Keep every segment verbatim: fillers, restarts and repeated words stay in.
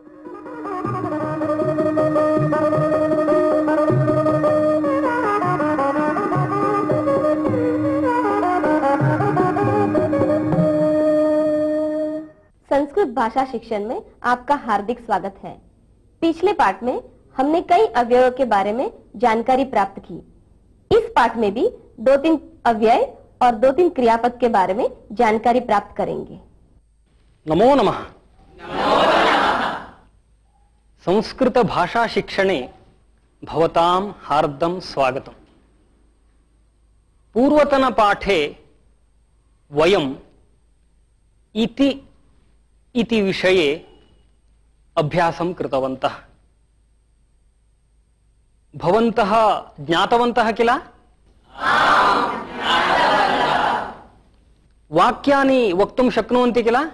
संस्कृत भाषा शिक्षण में आपका हार्दिक स्वागत है। पिछले पाठ में हमने कई अव्ययों के बारे में जानकारी प्राप्त की। इस पाठ में भी दो तीन अव्यय और दो तीन क्रियापद के बारे में जानकारी प्राप्त करेंगे। नमो नमः। संस्कृत भाषा शिक्षणे भवतां हार्दं स्वागतम्। पूर्वतन पाठे वयम् इति इति विषये अभ्यासं कृतवन्तः। भवन्तः ज्ञातवन्तः किल? वाक्यानि वक्तुं शक्नुवन्ति किल?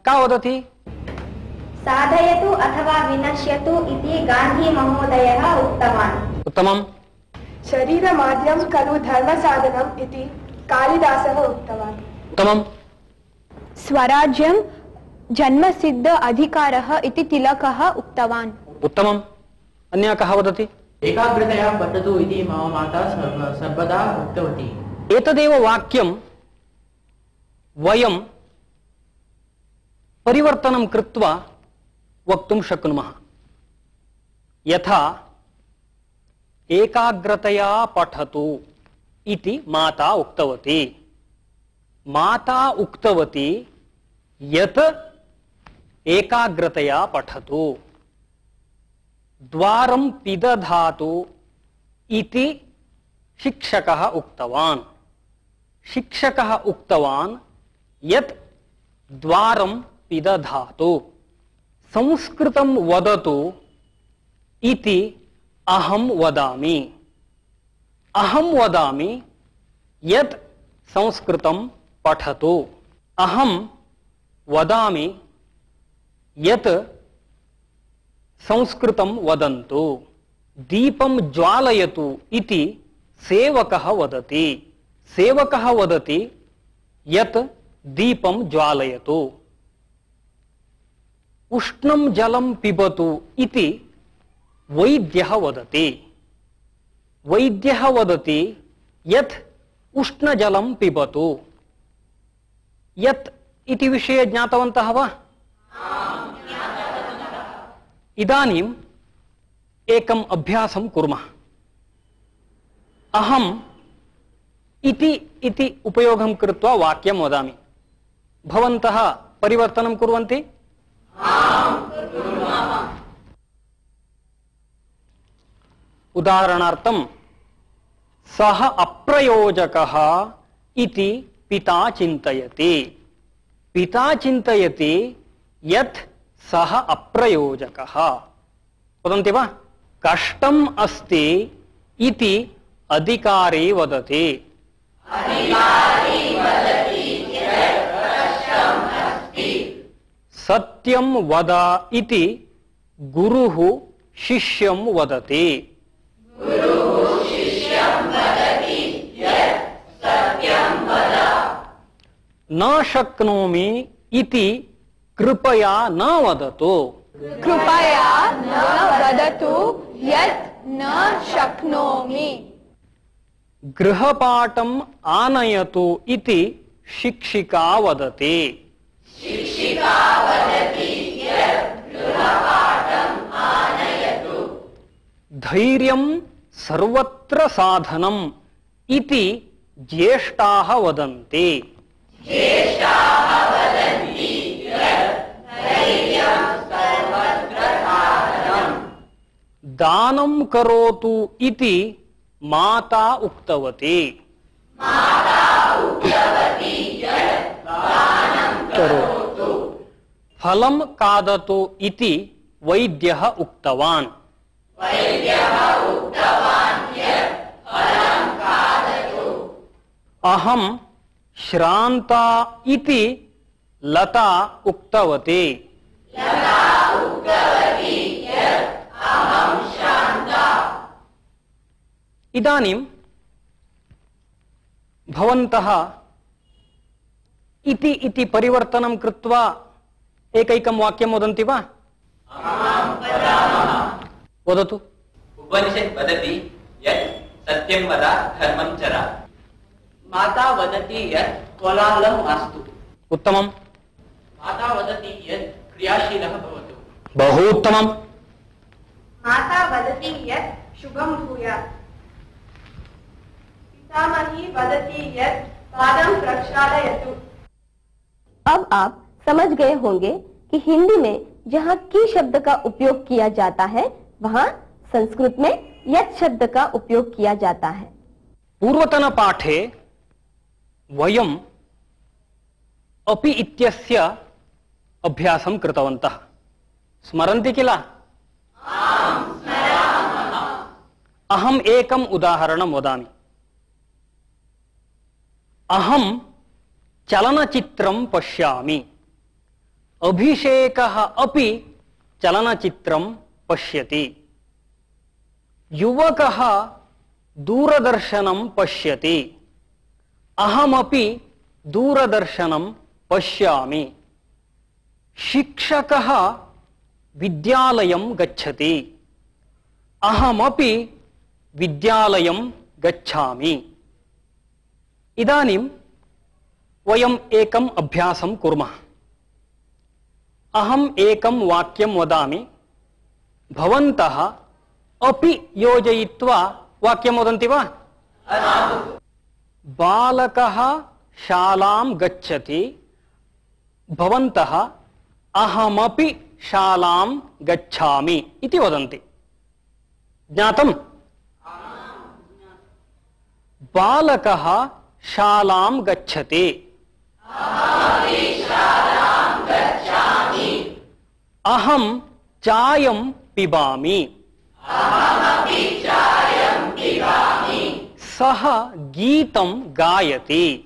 का वदति? साधयतु अथवा विनश्यतु इति गान्धी महोदयः उक्तवान्। उत्तमम्। शरीरमाद्यं खलु धर्मसाधनम् इति कालिदासः उक्तवान्। उत्तमम्। स्वराज्यं जन्मसिद्ध अधिकारः इति तिलकः उक्तवान्। उत्तमम्। अन्यः कः वदति? एकाग्रतया पठतु इति मम माता सर्वदा उक्तवती। एतदेव वाक्यं वयं परिवर्तनं कृत्वा वक्तुं शक्नुमः। यथा एकाग्रतया पठतु इति माता उक्तवती। माता उक्तवती यत् एकाग्रतया पठतु। द्वारं पिदधातु इति शिक्षकः उक्तवान्। शिक्षकः उक्तवान् यत् द्वारं पिदधातु। संस्कृतं वदतु इति अहं वदामि। अहं वदामि यत् संस्कृतं पठतु। अहं वदामि यत् संस्कृतं वदन्तु। दीपं ज्वालयतु इति सेवकः वदति। सेवकः वदति यत् दीपं ज्वालयतु। उष्णं जलं पिबतु इति वैद्यः वदति। वैद्यः वदति यत् उष्णजलं पिबतु। यत् इति विषये ज्ञातवन्तः वा? इदानीम् एकम् अभ्यासं कुर्मः। अहम् इति इति उपयोगं कृत्वा वाक्यं वदामि। भवन्तः परिवर्तनं कुर्वन्ति? उदाहरणार्थं सः अप्रयोजकः इति पिता चिन्तयति। पिता चिन्तयति यत् सः अप्रयोजकः। वदन्ति वा? कष्टम् अस्ति इति अधिकारी वदति। सत्यं वद इति गुरुः शिष्यं वदति। न शक्नोमि इति कृपया न वदतु। कृपया न वदतु यत् न शक्नोमि। गृहपाठम् आनयतु इति शिक्षिका वदति। धैर्यं सर्वत्र साधनम् इति ज्येष्ठाः वदन्ति। दानं करोतु इति माता उक्तवती। करोतु। फलं खादतु इति वैद्यः उक्तवान्। अहं श्रान्ता इति लता उक्तवती। इदानीं भवन्तः इति इति परिवर्तनं कृत्वा एकैकं वाक्यं वदन्ति वा? वदतु। उपनिषत् वदति यत् सत्यं वद धर्मं चर। माता वदति यत् कोलाहलं मास्तु। उत्तमम्। माता वदति यत् क्रियाशीलः भवतु। बहु उत्तमम्। माता वदति यत् शुभं भूयात्। पितामही वदति यत् पादं प्रक्षालयतु। अब आप समझ गए होंगे कि हिंदी में जहाँ की शब्द का उपयोग किया जाता है वहाँ संस्कृत में यत् शब्द का उपयोग किया जाता है। पूर्वतन पाठे वयम् अपि इत्यस्य अभ्यासं कृतवन्तः। स्मरन्ति किल? अहम् एकम् उदाहरणं वदामि। अहं चलनचित्रं पश्यामि। अभिषेकः अपि चलनचित्रं पश्यति। युवकः दूरदर्शनं पश्यति। अहमपि दूरदर्शनं पश्यामि। शिक्षकः विद्यालयं गच्छति। अहमपि विद्यालयं गच्छामि। इदानीं वयम् एकम् अभ्यासं कुर्मः। अहम् एकं वाक्यं वदामि। भवन्तः अपि योजयित्वा वाक्यं वदन्ति वा? बालकः शालां गच्छति। भवन्तः अहमपि शालां गच्छामि इति वदन्ति। ज्ञातम्? बालकः शालां गच्छति। अहं चायं पिबामि। सः गीतं गायति।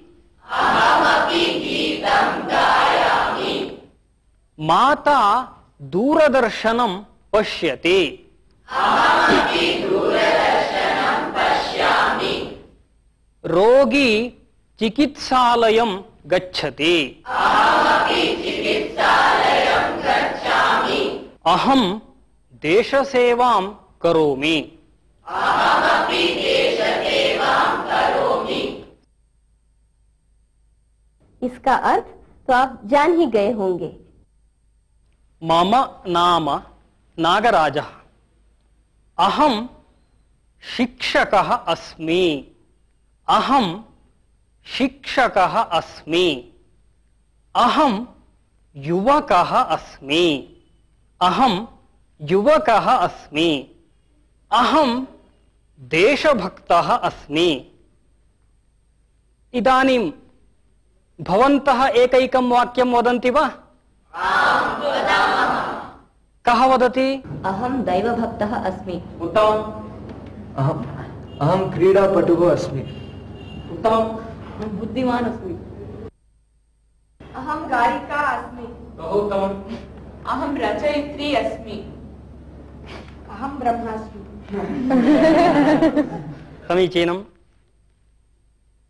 माता दूरदर्शनं पश्यति। रोगी चिकित्सालयं गच्छति। अहं देशसेवां करोमि। इसका अर्थ तो आप जान ही गए होंगे। मम नाम नागराजः। अहं शिक्षकः अस्मि। अहं शिक्षकः अस्मि। अहं युवकः अस्मि। अहं युवकः अस्मि। अहं देशभक्तः अस्मि। इदानीं भवन्तः एकैकं वाक्यं वदन्ति वा? कः वदति? अहं दैवभक्तः अस्मि। उत्तमम्। अहम् अहं क्रीडापटुः अस्मि। उत्तमम्। अहं बुद्धिमान् अस्मि। अहं गायिका अस्मि। बहु उत्तमम्। अहं रचयित्री अस्मि। अहं ब्रह्मास्मि। समीचीनम्।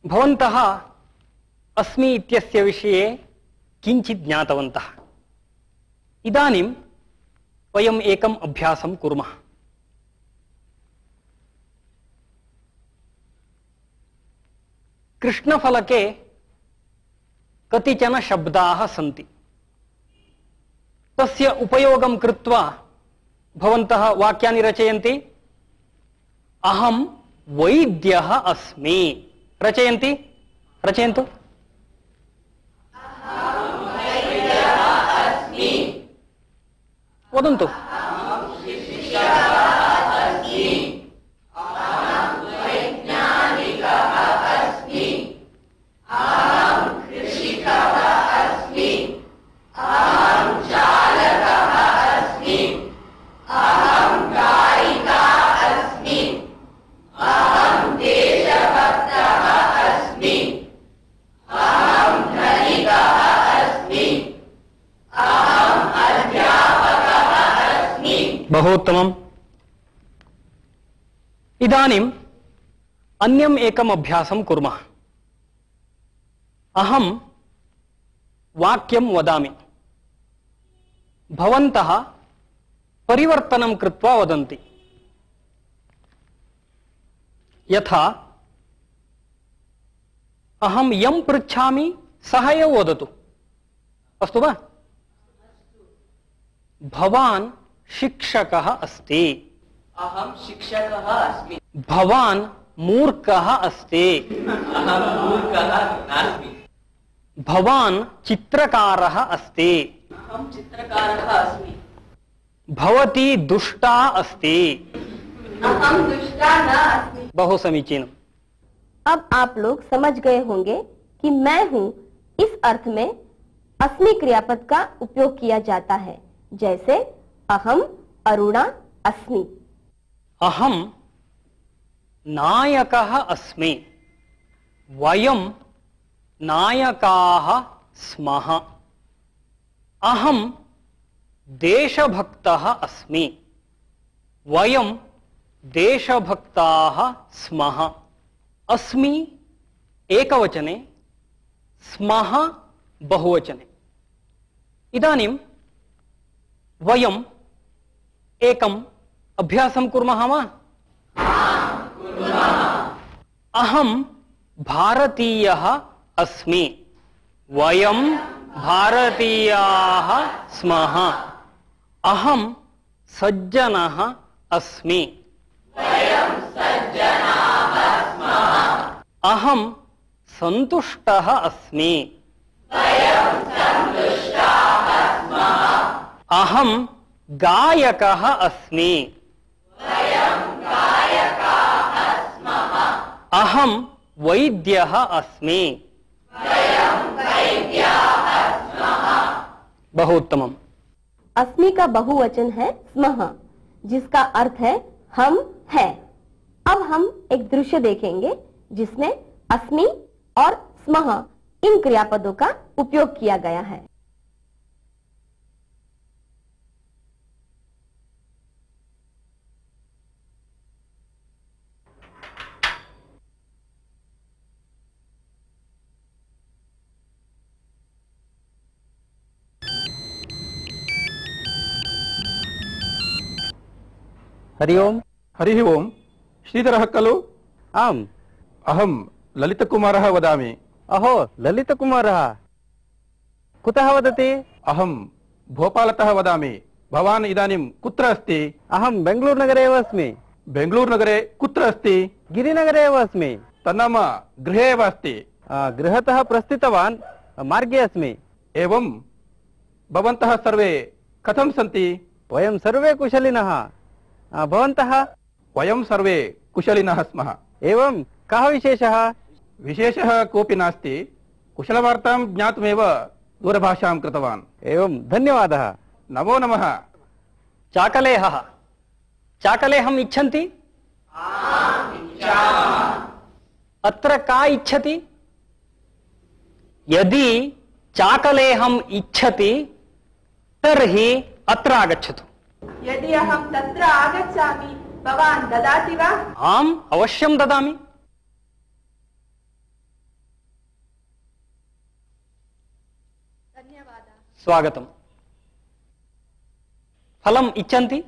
भवन्तः अस्मि इत्यस्य विषये किञ्चित् ज्ञातवन्तः। इदानीं वयम् एकम् अभ्यासं कुर्मः। कृष्णफलके कतिचन शब्दाः सन्ति। तस्य उपयोगं कृत्वा भवन्तः वाक्यानि रचयन्ति। अहं वैद्यः अस्मि। रचयन्ति? रचयन्तु। वदन्तु। बहु उत्तमम्। इदानीम् अन्यम् एकम् अभ्यासं कुर्मः। अहं वाक्यं वदामि। भवन्तः परिवर्तनं कृत्वा वदन्ति। यथा अहं यं पृच्छामि सः एव वदतु। अस्तु वा? भवान् शिक्षकः अस्ति। अहं शिक्षकः अस्मि। भवान् मूर्खः अस्ति। अहं मूर्खः नास्मि। भवान् चित्रकारः अस्ति। अहं चित्रकारः अस्मि। भवती दुष्टा अस्ति। अहं दुष्टा न अस्मि। बहु समीचीनम्। अब आप लोग समझ गए होंगे कि मैं हूँ इस अर्थ में अस्मि क्रियापद का उपयोग किया जाता है, जैसे अहम अरुणा अस्मि। अहम नायकः अस्मि। वयं नायकाः स्मः। अहम देशभक्तः अस्मि। वयं देशभक्ताः स्मः। अस्मि एकवचने, स्मः बहुवचने। इदानीं वयम् एकम् अभ्यासं कुर्मः वा? अहं भारतीयः अस्मि। वयं भारतीयाः स्मः। अहं सज्जनः अस्मि। वयं सज्जनाः स्मः। अहं सन्तुष्टः अस्मि। वयं सन्तुष्टाः स्मः। अहं गायकः अस्मि। वयं गायकाः स्मः। अहं वैद्यः अस्मि। वयं वैद्याः स्मः। बहु उत्तमम्। अस्मि का बहुवचन है स्मः, जिसका अर्थ है हम हैं। अब हम एक दृश्य देखेंगे जिसमें अस्मि और स्मः इन क्रियापदों का उपयोग किया गया है। हरि ओम्। हरिः ओम्। श्रीधरः खलु? आम्। अहं ललितकुमारः वदामि। अहो, ललितकुमारः कुतः वदति? अहं भोपालतः वदामि। भवान् इदानीं कुत्र अस्ति? अहं बेङ्गलूरुनगरे एव अस्मि। बेङ्गलूरुनगरे कुत्र अस्ति? गिरिनगरे एव अस्मि। तन्नाम गृहे एव अस्ति। गृहतः प्रस्थितवान्, मार्गे अस्मि। एवं। भवन्तः सर्वे कथं सन्ति? वयं सर्वे कुशलिनः। भवन्तः? वयं सर्वे कुशलिनः स्मः। एवं, कः विशेषः? विशेषः कोऽपि नास्ति। कुशलवार्तां ज्ञातुमेव दूरभाषां कृतवान्। एवं, धन्यवादः। नमो नमः। चाकलेहः चाकलेहम् इच्छन्ति? अत्र का इच्छति? यदि चाकलेहम् इच्छति तर्हि अत्र आगच्छतु। यदि अहं तत्र आगच्छामि भवान् ददाति वा? आम्, अवश्यं ददामि। धन्यवादः। स्वागतम्। फलम् इच्छन्ति?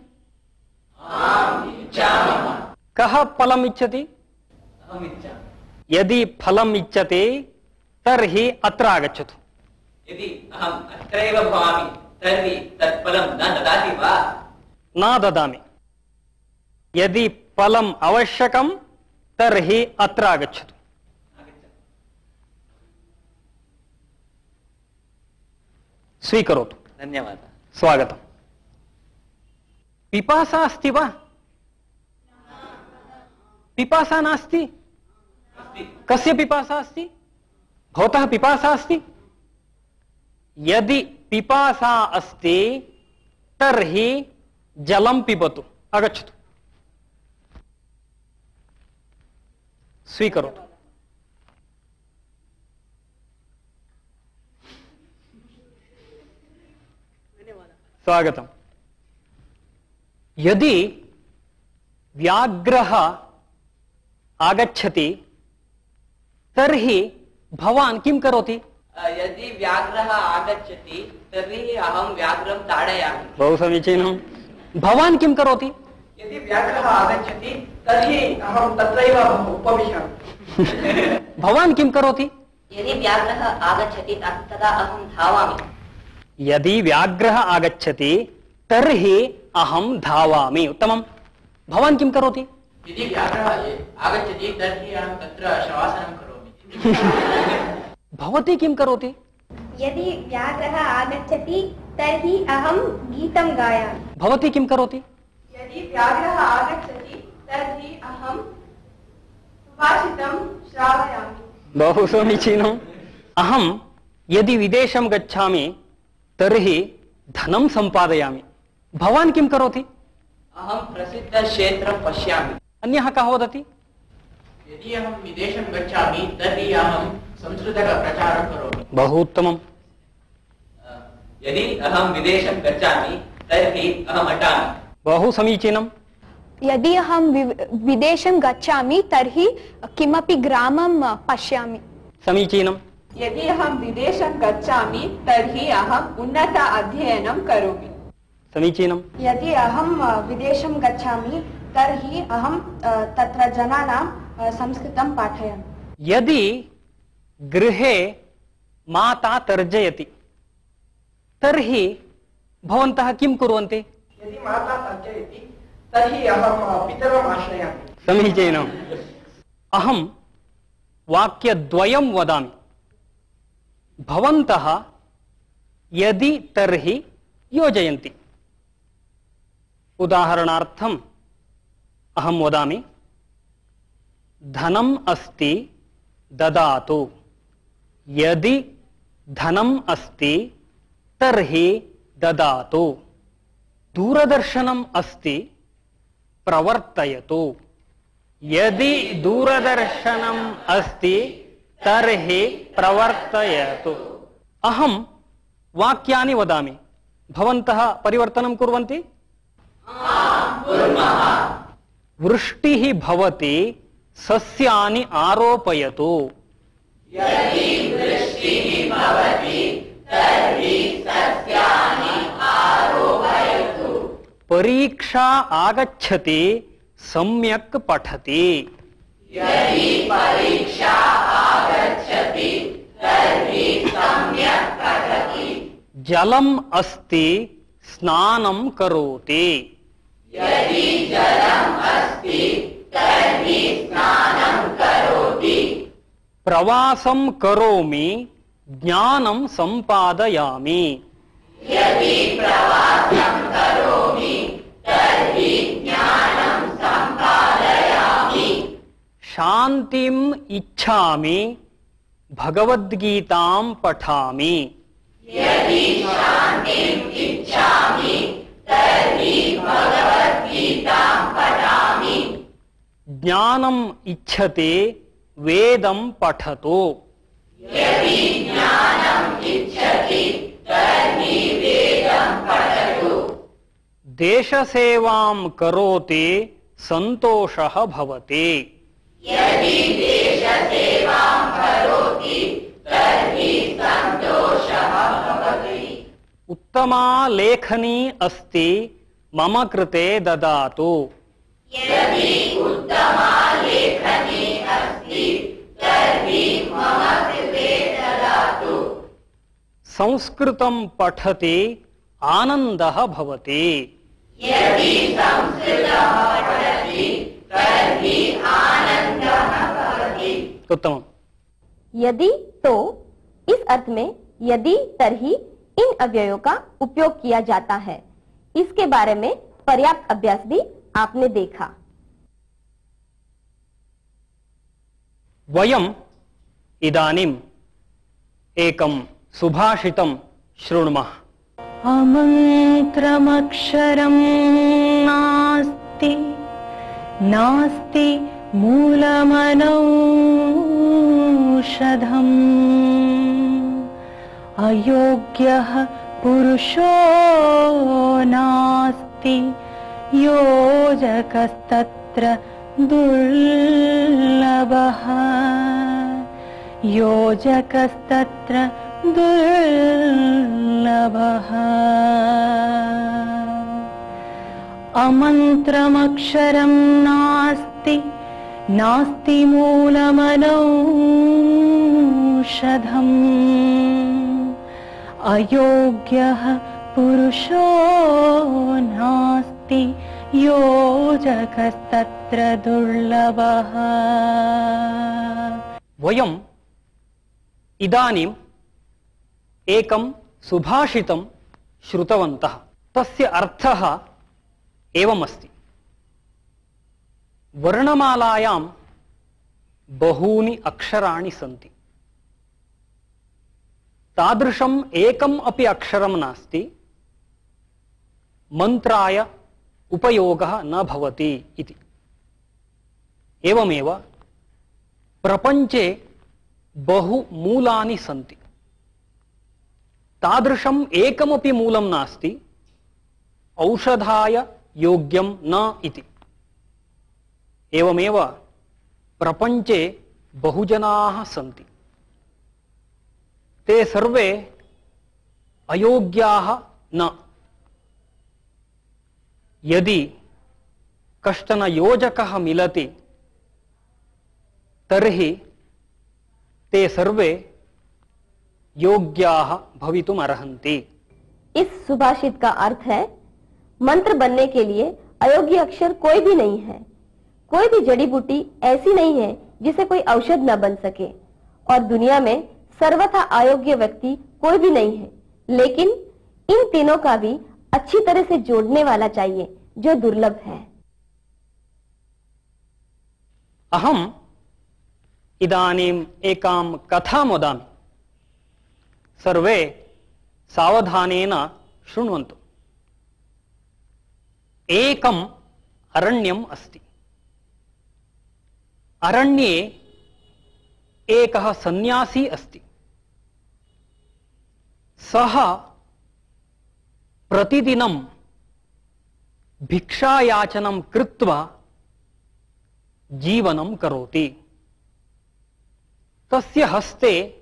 कः फलम् इच्छति? यदि फलम् इच्छति तर्हि अत्र आगच्छतु। यदि अहम् अत्रैव भवामि तर्हि तत् फलं न ददाति वा? न ददामि। यदि फलम् आवश्यकं तर्हि अत्र आगच्छतु। स्वीकरोतु। धन्यवादः। स्वागतम्। पिपासा अस्ति वा? पिपासा नास्ति? कस्य पिपासा अस्ति? भवतः पिपासा अस्ति? यदि पिपासा अस्ति तर्हि जलं पिबतु। आगच्छतु। स्वीकरोतु। स्वागतम्। यदि व्याघ्रः आगच्छति तर्हि भवान् किं करोति? यदि व्याघ्रः आगच्छति तर्हि अहं व्याघ्रं ताडयामि। बहु समीचीनं। भवान् किं करोति? यदि व्याघ्रः आगच्छति तर्हि अहं तत्रैव उपविशामि। भवान् किं करोति? यदि व्याघ्रः आगच्छति तदा अहं धावामि। यदि व्याघ्रः आगच्छति तर्हि अहं धावामि। उत्तमं। भवान् किं करोति? यदि व्याघ्रः आगच्छति तर्हि अहं तत्र शवासनं करोमि। भवती किं करोति? यदि व्याघ्रः आगच्छति तर्हि अहं गीतं गायामि। भवती किं करोति? यदि व्याघ्रः आगच्छति तर्हि अहं सुभाषितं श्रावयामि। बहु समीचीनम्। अहं यदि विदेशं गच्छामि तर्हि धनं सम्पादयामि। भवान् किं करोति? अहं प्रसिद्धक्षेत्रं पश्यामि। अन्यः कः वदति? यदि अहं विदेशं गच्छामि तर्हि अहं संस्कृतप्रचारं करोमि। बहु उत्तमम्। यदि अहं विदेशं गच्छामि तर्हि अहम् अटामि। बहु समीचीनम्। यदि अहं विदेशं गच्छामि तर्हि किमपि ग्रामं पश्यामि। समीचीनम्। यदि अहं विदेशं गच्छामि तर्हि अहम् उन्नत अध्ययनं करोमि। समीचीनम्। यदि अहं विदेशं गच्छामि तर्हि अहं तत्र जनानां संस्कृतं पाठयामि। यदि गृहे माता तर्जयति तर्हि भवन्तः किं कुर्वन्ति? यदि माता तर्जयति तर्हि अहं पितरम् आश्रयामि। समीचीनम्। अहं वाक्यद्वयं वदामि। भवन्तः यदि तर्हि योजयन्ति। उदाहरणार्थम् अहं वदामि, धनम् अस्ति ददातु। यदि धनम् अस्ति तर्हि ददातु। दूरदर्शनम् अस्ति प्रवर्तयतु। यदि दूरदर्शनम् अस्ति तर्हि प्रवर्तयतु। अहं वाक्यानि वदामि, भवन्तः परिवर्तनं कुर्वन्ति? वृष्टिः भवति, सस्यानि आरोपयतु। यदि वृष्टिः भवति तर्हि सस्यानि आरोपयतु। परीक्षा आगच्छति, सम्यक् पठति। यदि परीक्षा आगच्छति तर्हि सम्यक् पठति। जलम् अस्ति, स्नानं करोति। यदि जलम् अस्ति तर्हि स्नानं करोति। प्रवासं करोमि, ज्ञानं सम्पादयामि। यदि प्रवासं करोमि तर्हि ज्ञानं सम्पादयामि। शान्तिम् इच्छामि, भगवद्गीतां पठामि। यदि शान्तिम् इच्छामि तर्हि भगवद्गीतां पठामि। ज्ञानम् इच्छति, वेदं पठतु। यदि ज्ञानम् इच्छति तर्हि वेदं पठतु। देशसेवां करोति, सन्तोषः भवति। यदि देशसेवां करोति तर्हि सन्तोषः भवति। उत्तमा लेखनी अस्ति, मम कृते ददातु। यदि उत्तमा लेखनी अस्ति तर्हि मम कृते ददातु। संस्कृतं पठति, आनन्दः भवति। यदि संस्कृतं पठति तर्हि आनन्दः भवति। उत्तमम्। यदि तो इस अर्थ में यदि तरही इन अव्ययों का उपयोग किया जाता है। इसके बारे में पर्याप्त अभ्यास भी आपने देखा। वयम् इदानीम् एकं सुभाषितं शृणुमः। अमन्त्रमक्षरं नास्ति, नास्ति मूलमनौषधम्, अयोग्यः पुरुषो नास्ति, योजकस्तत्र दुर्लभः, योजकस्तत्र दुर्लभः अमन्त्रमक्षरं नास्ति नास्ति मूलमनौषधम् अयोग्यः पुरुषो नास्ति योजकस्तत्र दुर्लभः। वयम् इदानीम् एकं सुभाषितं श्रुतवन्तः। तस्य अर्थः एवमस्ति। वर्णमालायां बहूनि अक्षराणि सन्ति। तादृशम् एकम् अपि अक्षरं नास्ति मन्त्राय उपयोगः न भवति इति। एवमेव प्रपञ्चे बहु मूलानि सन्ति। तादृशम् एकमपि मूलं नास्ति औषधाय योग्यं न इति। एवमेव प्रपञ्चे बहुजनाः सन्ति। ते सर्वे अयोग्याः न। यदि कश्चन योजकः मिलति तर्हि ते सर्वे योग्याः भवितुम् अर्हन्ति। इस सुभाषित का अर्थ है मंत्र बनने के लिए अयोग्य अक्षर कोई भी नहीं है। कोई भी जड़ी बूटी ऐसी नहीं है जिसे कोई औषध न बन सके, और दुनिया में सर्वथा अयोग्य व्यक्ति कोई भी नहीं है। लेकिन इन तीनों का भी अच्छी तरह से जोड़ने वाला चाहिए जो दुर्लभ है। अहम् इदानीम् एकां कथां वदामि। सर्वे सावधानेन शृण्वन्तु। एकम् अरण्यम् अस्ति। अरण्ये एकः सन्यासी अस्ति। सः प्रतिदिनं भिक्षायाचनं कृत्वा जीवनं करोति। तस्य हस्ते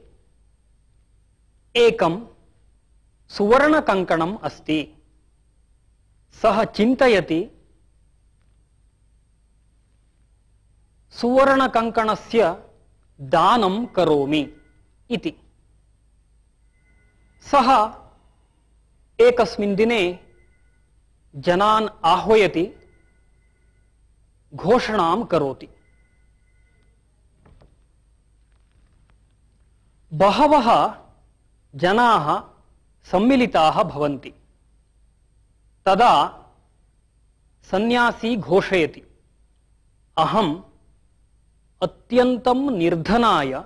एकं सुवर्णकङ्कणम् अस्ति। सः चिन्तयति सुवर्णकङ्कणस्य दानं करोमि इति। सः एकस्मिन् दिने जनान् आह्वयति, घोषणां करोति। बहवः जनाः सम्मिलिताः भवन्ति। तदा सन्यासी घोषयति, अहम् अत्यन्तं निर्धनाय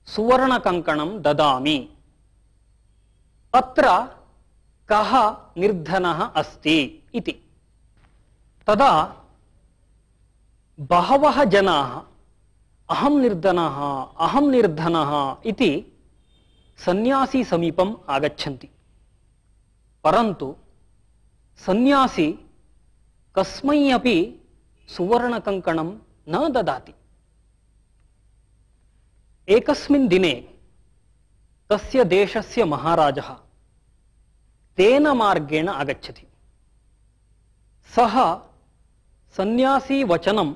सुवर्णकङ्कणं ददामि। अत्र कः निर्धनः अस्ति इति। तदा बहवः जनाः अहं निर्धनः अहं निर्धनः इति सन्यासी समीपम् आगच्छन्ति। परन्तु सन्यासी कस्मै अपि सुवर्णकङ्कणं न ददाति। एकस्मिन् दिने तस्य देशस्य महाराजः तेन मार्गेण आगच्छति। सः सन्यासी वचनं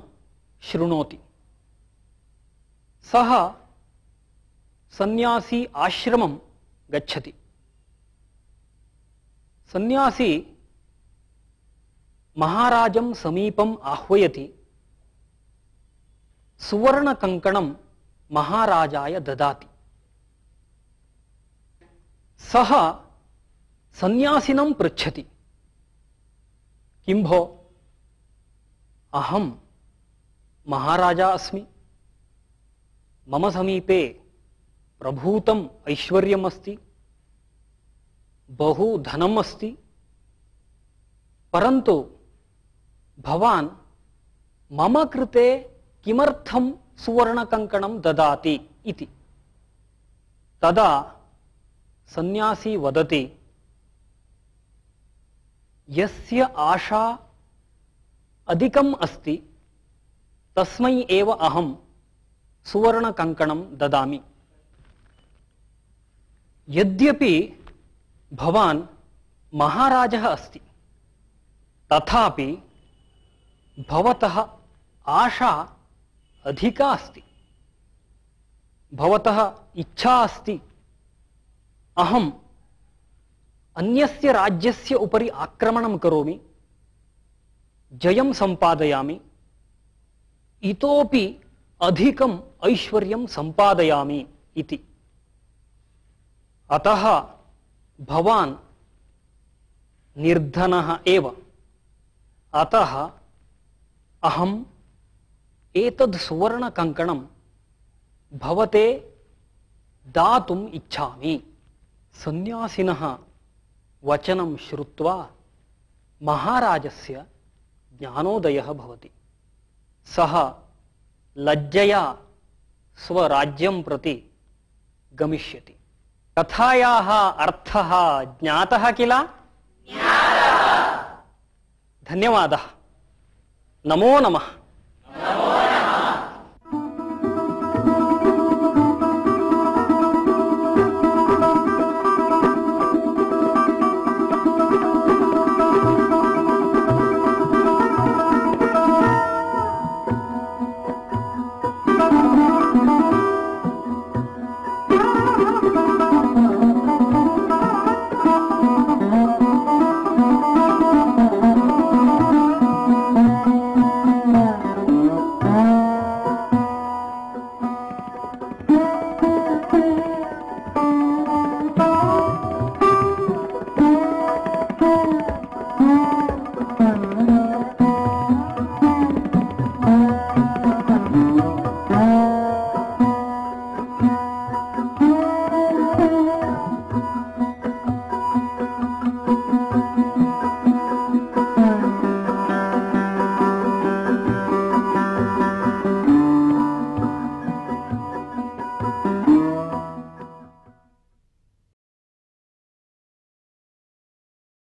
शृणोति। सः सन्यासी आश्रमं गच्छति। सन्यासी महाराजं समीपम् आह्वयति। सुवर्णकङ्कणं महाराजाय ददाति। सः सन्यासिनं पृच्छति, किं भो, अहं महाराजा अस्मि, मम समीपे प्रभूतम् ऐश्वर्यम् अस्ति, बहु धनम् अस्ति, परन्तु भवान् मम कृते किमर्थं सुवर्णकङ्कणं ददाति इति। तदा सन्यासी वदति, यस्य आशा अधिकम् अस्ति तस्मै एव अहं सुवर्णकङ्कणं ददामि। यद्यपि भवान् महाराजः अस्ति, तथापि भवतः आशा अधिका अस्ति। भवतः इच्छा अस्ति अहम् अन्यस्य राज्यस्य उपरि आक्रमणं करोमि, जयं सम्पादयामि, इतोपि अधिकम् ऐश्वर्यं सम्पादयामि इति। अतः भवान् निर्धनः एव। अतः अहम् एतद् सुवर्णकङ्कणं भवते दातुम् इच्छामि। सन्यासिनः वचनं श्रुत्वा महाराजस्य ज्ञानोदयः भवति। सः लज्जया स्वराज्यं प्रति गमिष्यति। कथायाः अर्थः ज्ञातः किल? धन्यवादः। नमो नमः।